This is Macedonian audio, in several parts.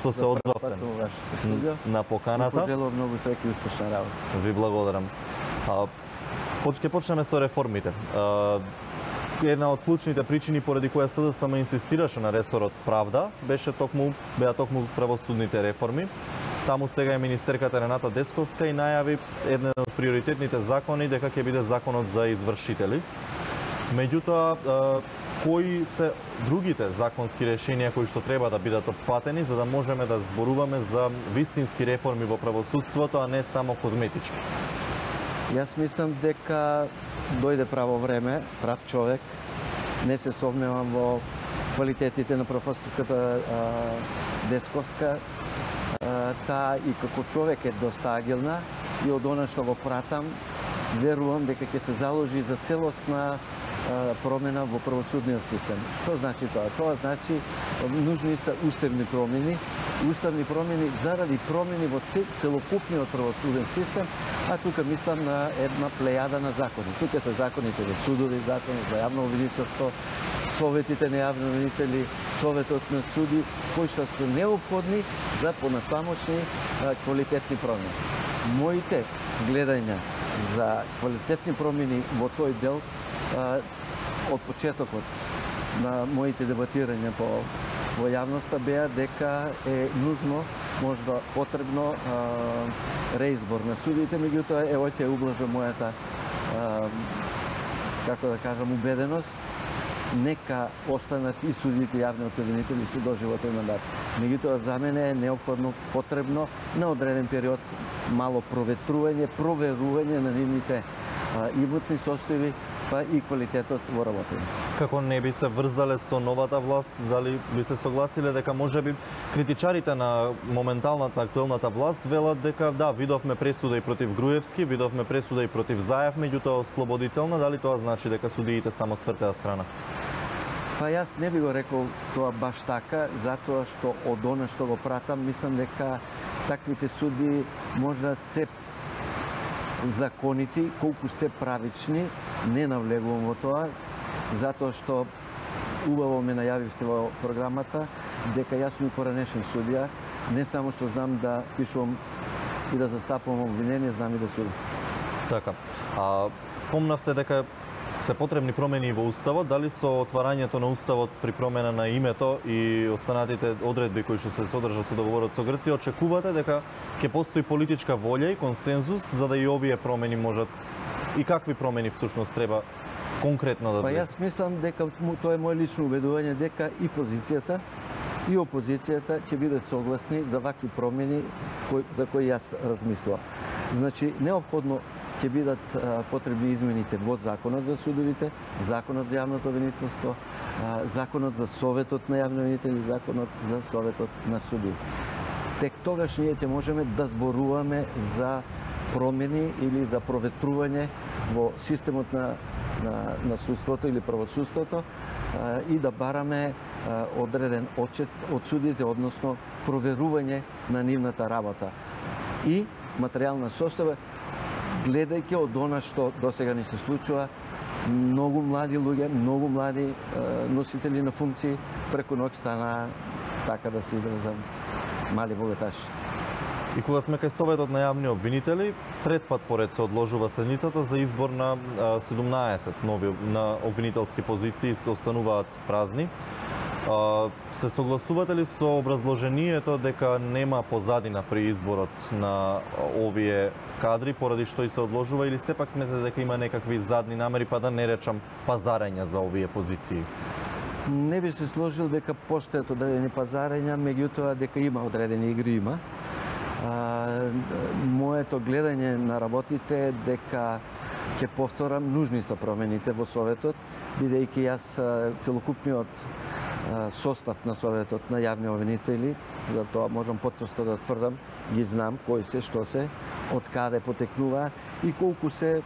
што се одзовте на поканата. Пожелувам многу среќа и успешна работа. Ви благодарам. Ќе почнеме со реформите. Една од клучните причини поради која СДСМ инсистираше на ресорот правда беа токму правосудните реформи. Таму сега е министерката Рената Десковска и најави еден од приоритетните закони дека ќе биде законот за извршители. Меѓутоа, кои се другите законски решенија кои што треба да бидат опфатени за да можеме да зборуваме за вистински реформи во правосудството, а не само козметички? Јас мислам дека дојде право време, прав човек. Не се сомневам во квалитетите на професорката Десковска. Таа и како човек е доста агилна и од она што го пратам, верувам дека ќе се заложи за целосна промена во правосудниот систем. Што значи тоа? Тоа значи нужни се уставни промени заради промени во целокупниот правосуден систем, а тука мислам на една плејада на закони. Тука се законите за судови, закони за јавно обвинителство, советите на јавни обвинители, советот на суди, кои што се неопходни за понатамошни квалитетни промени. Моите гледања за квалитетни промени во тој дел од почетокот на моите дебатирања во јавноста беа дека е нужно, можда потребно реизбор на судите, меѓутоа ево ќе ублажа мојата како да кажам убеденост, нека останат и судите јавни обвинители со доживотен мандат. Меѓутоа за мене е неопходно, потребно на одреден период мало проверување на нивните имотни состојби, па и квалитетот во работење. Како не би се врзале со новата власт, дали би се согласиле дека можеби критичарите на моменталната актуелната власт велат дека да, видовме пресуда и против Груевски, видовме пресуда и против Заев, меѓутоа ослободителна, дали тоа значи дека судиите само свртеа страна? Па јас не би го рекол тоа баш така, затоа што од она што го пратам, мислам дека таквите суди можда се законити, колку се правични, не навлегувам во тоа, затоа што убаво ме најавивте во програмата дека јас сум и поранешен судија, не само што знам да пишувам и да застапувам обвинение, знам и да судам. Така. Спомнавте дека се потребни промени во Уставот, дали со отварањето на Уставот при промена на името и останатите одредби кои што се содржат со договорот со Грција, очекувате дека ќе постои политичка волја и консензус за да и овие промени можат и какви промени всушност треба конкретно да Па јас мислам дека тоа е моје лично убедување дека и позицијата и опозицијата ќе бидат согласни за вакви промени за кои јас размислувам. Значи неопходно ќе бидат потребни измените во законот за судовите, законот за јавното обвинителство, законот за советот на јавни обвинители, законот за советот на суди. Тек тогаш ние ќе можеме да зборуваме за промени или за проветрување во системот на судството или правосудството и да бараме одреден отчет од судите, односно проверување на нивната работа. И материјална состојба, гледајќи од она што досега ни се случува, многу млади луѓе, многу млади носители на функции преку ноќ стана, така да се изразам, мали богаташи. И кога сме кај Советот на јавни обвинители, трет пат поред се одложува седницата за избор на 17 нови на обвинителски позиции се остануваат празни. Се согласувате ли со образложението дека нема позадина при изборот на овие кадри поради што и се одложува, или сепак сметате дека има некакви задни намери, па да не речам пазарења за овие позиции? Не би се сложил дека постојат одредени пазарења, меѓутоа дека има одредени игри има. Моето гледање на работите е дека ќе повторам, нужни се промените во Советот, бидејќи јас целокупниот состав на Советот на јавни обвинители, затоа можам потврсто да тврдам, ги знам кои се, што се, од каде потекнува и колку се,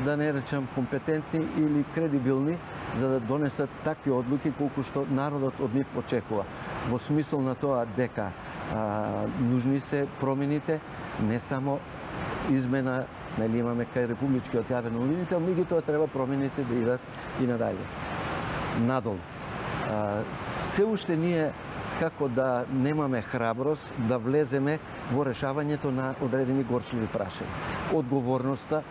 да не речам, компетентни или кредибилни за да донесат такви одлуки колку што народот од нив очекува. Во смисол на тоа дека нужни се промените, не само измена, нели имаме кај републичкиот јавен обвинител, меѓутоа треба промените да идат и надале. Надолу. се уште ние како да немаме храброст да влеземе во решавањето на одредени горчливи прашања. Одговорноста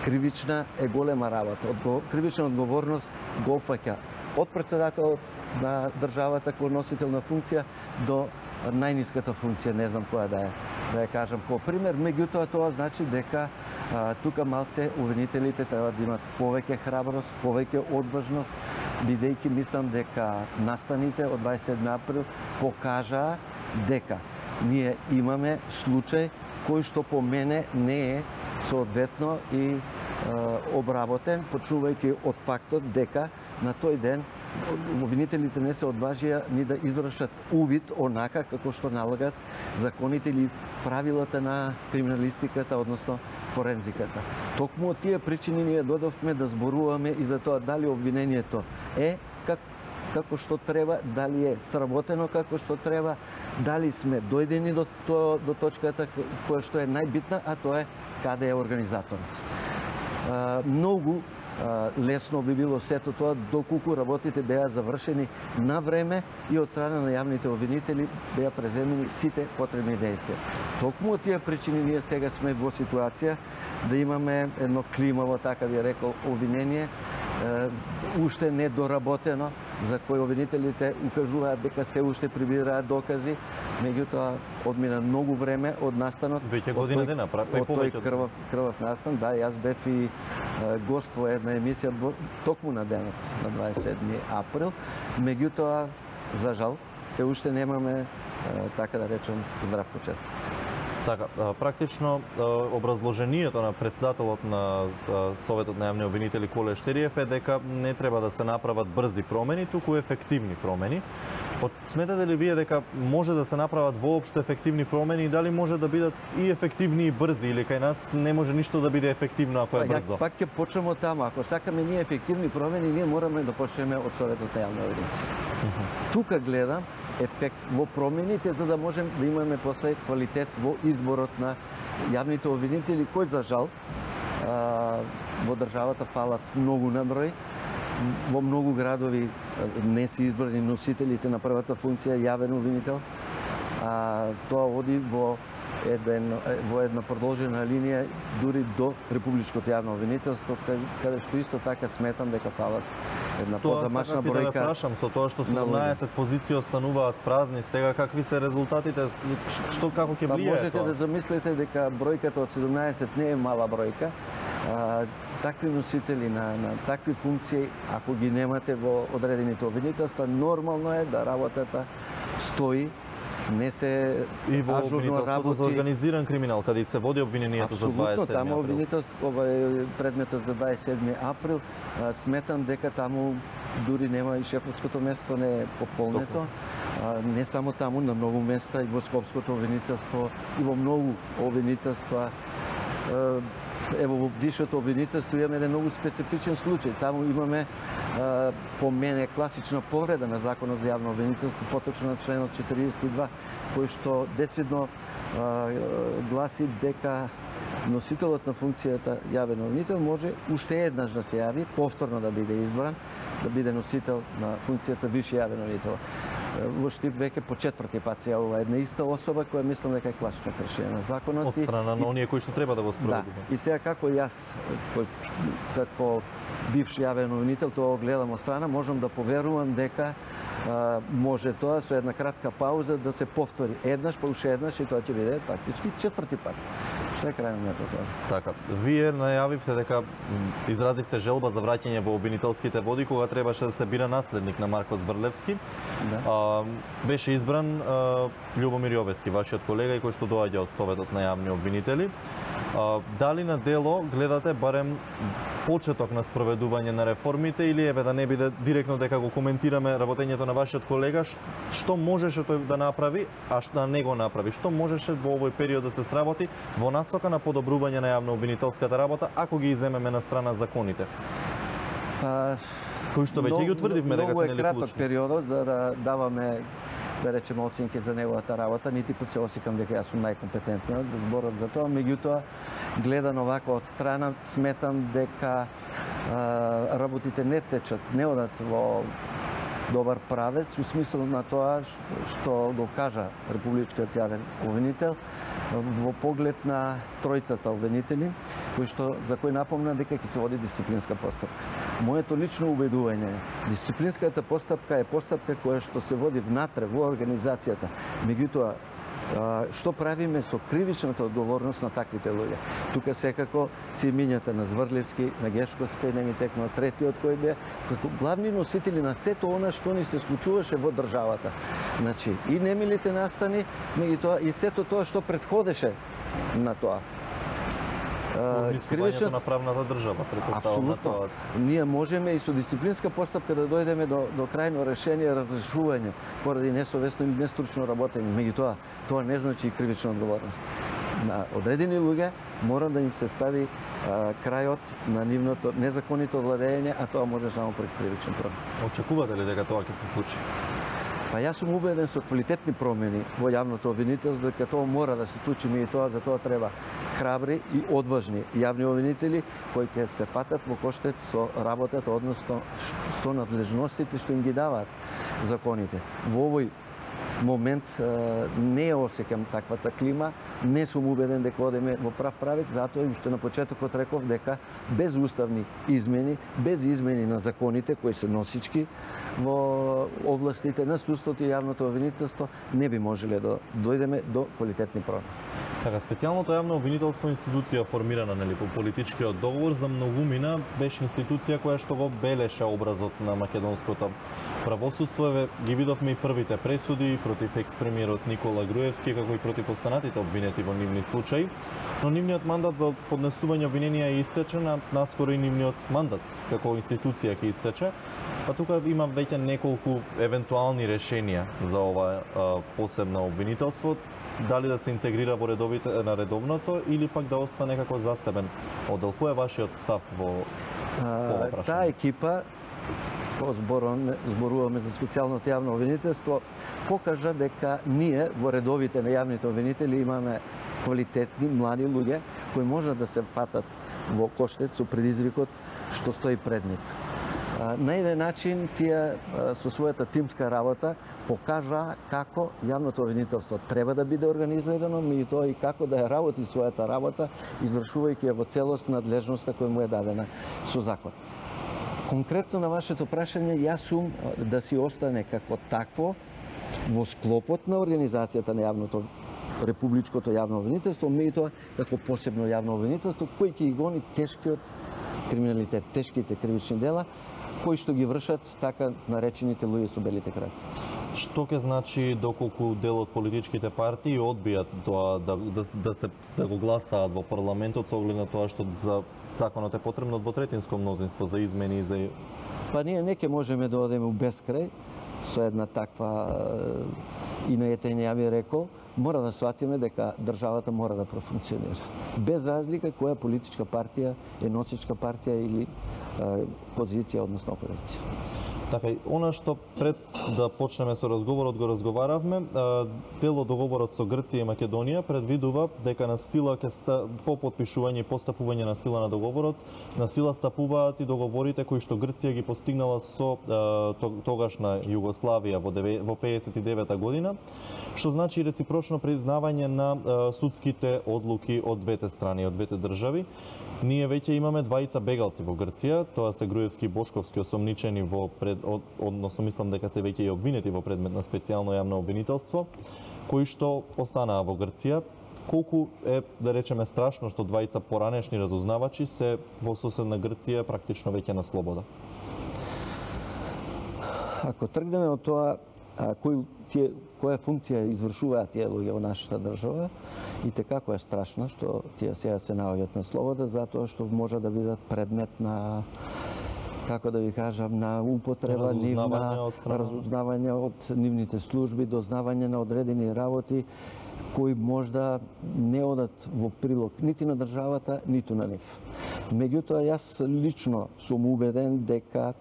кривична е голема работа. Кривична одговорност го опфаќа од председателот на државата кој носител на функција до најниската функција, не знам која да ја кажам како пример, меѓутоа тоа значи дека тука малце обвинителите треба да имат повеќе храброст, повеќе одважност, бидејќи мислам дека настаните од 27 април покажаа дека ние имаме случај кој што по мене не е соодветно и обработен, почнувајќи од фактот дека на тој ден обвинителите не се одважија ни да извршат увид онака како што налагат законите или правилата на криминалистиката, односно форензиката. Токму од тие причини ние додовме да зборуваме и за тоа дали обвинението е како што треба, дали е сработено како што треба, дали сме дојдени до точката која што е најбитна, а тоа е каде е организаторот. Многу лесно би било сето тоа доколку работите беа завршени на време и од страна на јавните обвинители беа преземени сите потребни действија. Токму од тие причини ние сега сме во ситуација да имаме едно климаво, така би рекол, обвинение, уште недоработено, за кој обвинителите укажуваат дека се уште прибираат докази, меѓутоа одмина многу време од настанот. Веќе година дена, од тој крвав настан, да, јас бев и гост во една емисија токму на денот на 27 април, меѓутоа за жал се уште немаме, така да речем, здрав почеток. Така, практично образложението на председателот на Советот на јавни обвинители Коле Штериев е дека не треба да се направат брзи промени, туку ефективни промени. Сметате ли вие дека може да се направат воопшто ефективни промени и дали може да бидат и ефективни и брзи, или кај нас не може ништо да биде ефективно ако е брзо? Пак ќе почнеме од таму. Ако сакаме ние ефективни промени, ние мораме да почнеме од Советот на јавни обвинители. Тука гледам ефект во промените, за да можем да имаме после квалитет во изборот на јавните обвинители, кој за жал во државата фалат многу на број. Во многу градови не се избрани носителите на првата функција јавен обвинител. Тоа оди во една продолжена линија дури до републичкото јавно обвинителство, каде што исто така сметам дека фалат една позамашна бројка. Тоа прашам, со тоа што 17 позиции остануваат празни, сега какви се резултатите, што како ќе влијае тоа? Можете да замислите дека бројката од 17 не е мала бројка. Такви носители на такви функции, ако ги немате во одредените обвинителства, нормално е да работата стои, не се и во ажурно работи. За организиран криминал, каде се води обвинението за 27 април. Таму обвинителство, предметот за 27 април, сметам дека таму дури нема и шефовското место не е пополнето. Не само таму, на многу места и во Скопското обвинителство и во многу обвинителства. Ево, во висшето обвинителство имаме еден многу специфичен случај. Таму имаме, по мене, класична повреда на Законот за јавно обвинителство, поточно на членот 42, кој што децидно гласи дека носителот на функцијата јавен обвинител може уште еднаш да се јави, повторно да биде избран, да биде носител на функцијата висши јавен обвинител. Во Штип веќе по четврти пат се јавува една иста особа која мислам дека е класично кршење на законот. Од страна на оние кои што треба да го спроведува. Да. И сега како јас, како бивш јавен обвинител, тоа гледам од страна, можам да поверувам дека може тоа со една кратка пауза да се повтори еднаш, па уште еднаш и тоа ќе биде фактички четврти пат. Што е крајно на тоа? Така, вие најавивте дека изразивте желба за враќање во обвинителските води кога требаше да се бира наследник на Марко Зврлевски. Да. Беше избран Љубомир Јовески, вашиот колега и кој што доаѓа од Советот на јавни обвинители. Дали на дело гледате барем почеток на спроведување на реформите или еве да не биде директно дека го коментираме работењето на вашиот колега, што можеше тој да направи, а што да не го направи? Што можеше во овој период да се сработи во насока на подобрување на јавно-обвинителската работа, ако ги иземеме на страна законите? Кои што веќе ги утврдивме дека се нели клучни. Многу е краток периодот за да даваме, да речеме, оценки за неговата работа, нити пат се осекам дека јас сум најкомпетентниот да зборам за тоа, меѓутоа гледан овако од страна сметам дека работите не течат, не одат во добар правец у смисла на тоа што го кажа републичкиот јавен обвинител во поглед на тројцата обвинители, за кои напомна дека ќе се води дисциплинска постапка. Моето лично убедување е, дисциплинската постапка е постапка која што се води внатре во организацијата. Меѓутоа, што правиме со кривичната одговорност на таквите луѓе? Тука секако се имињата на Зврливски, на Гешковска и не ми текнува третиот кој бе, како главни носители на сето она што ни се случуваше во државата. Значи, и немилите настани, меѓутоа и сето тоа што претходеше на тоа. Кривичното на правната држава, претпоставам на тоа. Ние можеме и со дисциплинска постапка да дојдеме до крајно решение, разрешување поради несовесно или нестручно работење. Меѓутоа, тоа не значи и кривична одговорност. На одредени луѓе мора да им се стави крајот на нивното незаконито владење, а тоа може само пред кривичен прогон. Очекувате ли дека тоа ќе се случи? Па јас сум убеден со квалитетни промени во јавното обвинителство дека тоа мора да се случи, и тоа за тоа треба храбри и одважни јавни обвинители кои ќе се фатат во коштец со работата, односно со надлежностите што им ги даваат законите. Во овој момент не осеќам таквата клима, не сум убеден дека одеме во прав правец, затоа им што на почетокот реков дека без уставни измени, без измени на законите кои се носички во областите на судството и јавното обвинителство не би можеле да дојдеме до квалитетни промени. Така, специјалното јавно обвинителство институција формирана по политичкиот договор за многумина беше институција која што го белеше образот на македонското правосудство. Ги видовме и првите пресуди против екс-премиерот Никола Груевски, како и против останатите обвинети во нивни случаи, но нивниот мандат за поднесување обвиненија е истечен, а наскоро и нивниот мандат како институција ќе истече. Па тука има веќе неколку евентуални решенија за ова посебно обвинителство, дали да се интегрира во редовното или пак да остане како засебен оддел. Кој е вашиот став во ова прашање? Таа екипа, зборуваме за специјалното јавно обвинителство, покажа дека ние во редовите на јавните обвинители имаме квалитетни млади луѓе кои можат да се фатат во коштец со предизвикот што стои пред нив. На еден начин тие со својата тимска работа покажа како јавното обвинителство треба да биде организирано, меѓутоа и како да ја работи својата работа, извршувајќи ја во целост надлежноста која му е дадена со закон. Конкретно на вашето прашање, јас сум да си остане како такво во склопот на организацијата на јавното републичкото јавно обвинителство, меѓутоа како посебно јавно обвинителство кој ќе ги гони тешкиот криминалитет, тешките кривични дела кои што ги вршат така наречените луѓе со белите краки. Што ќе значи доколку дел од политичките партии одбијат тоа да го гласаат во парламентот со оглед на тоа што за законот е потребно двотретинско мнозинство за измени и за... Па ние не ќе можеме да одеме у бескрај со една таква инајетење, ја би рекол, мора да сватиме дека државата мора да профункционира. Без разлика која политичка партија е носичка партија или позиција, односно опозиција. Така, она што пред да почнеме со разговорот го разговаравме, дел од договорот со Грција и Македонија предвидува дека на сила по подпишување и постапување на сила на договорот, на сила стапуваат и договорите кои што Грција ги постигнала со тогашна Југославија во 59 година, што значи реципрочно признавање на судските одлуки од двете страни, од двете држави. Ние веќе имаме двајца бегалци во Грција, тоа се Груевски и Бошковски, осомничени односно мислам дека се веќе и обвинети во предмет на специјално јавно обвинителство, кои што останаа во Грција. Колку е, да речеме, страшно што двајца поранешни разузнавачи се во соседна Грција практично веќе на слобода? Ако тргнеме од тоа која функција извршуваат тие луѓе во нашата држава, и како е страшно што тие сега се наоѓаат на слобода, затоа што може да бидат предмет на, како да ви кажам, на употреба, разузнавање од нивните служби, дознавање на одредени работи кои можда не одат во прилог нити на државата, ниту на нив. Меѓутоа, јас лично сум убеден дека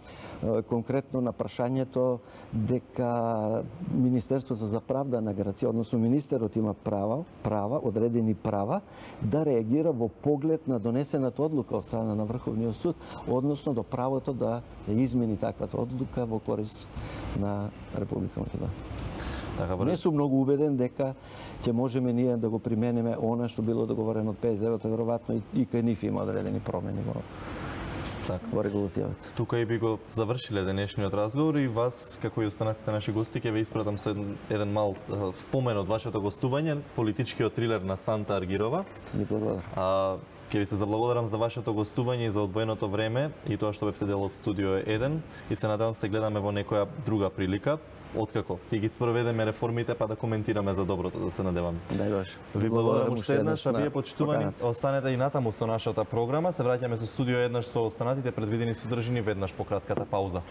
конкретно на прашањето дека Министерството за правда на Грција, односно министерот има права, одредени права, да реагира во поглед на донесената одлука од страна на Врховниот суд, односно до правото да измени таквата одлука во корист на Република Македонија. Така, Не сум многу убеден дека ќе можеме ние да го примениме она што било договорено од 59-та, веројатно и кај нив има одредени промени во регулативата. Тука и би го завршиле денешниот разговор и вас, како и останатите наши гости, ќе ве испратам со еден мал спомен од вашето гостување, политичкиот трилер на Санта Аргирова. Ни благодарам. Ќе ви се заблагодарам за вашето гостување и за одвоеното време и тоа што бевте дел од Студио 1 и се надевам се гледаме во некоја друга прилика. Откако ќе ги спроведеме реформите, па да коментираме за доброто, да се надеваме. Дај Боже. Ви благодарам уште еднаш, а вие почитувани останете и натаму со нашата програма. Се враќаме со Студио 1 со останатите предвидени содржини веднаш по кратката пауза.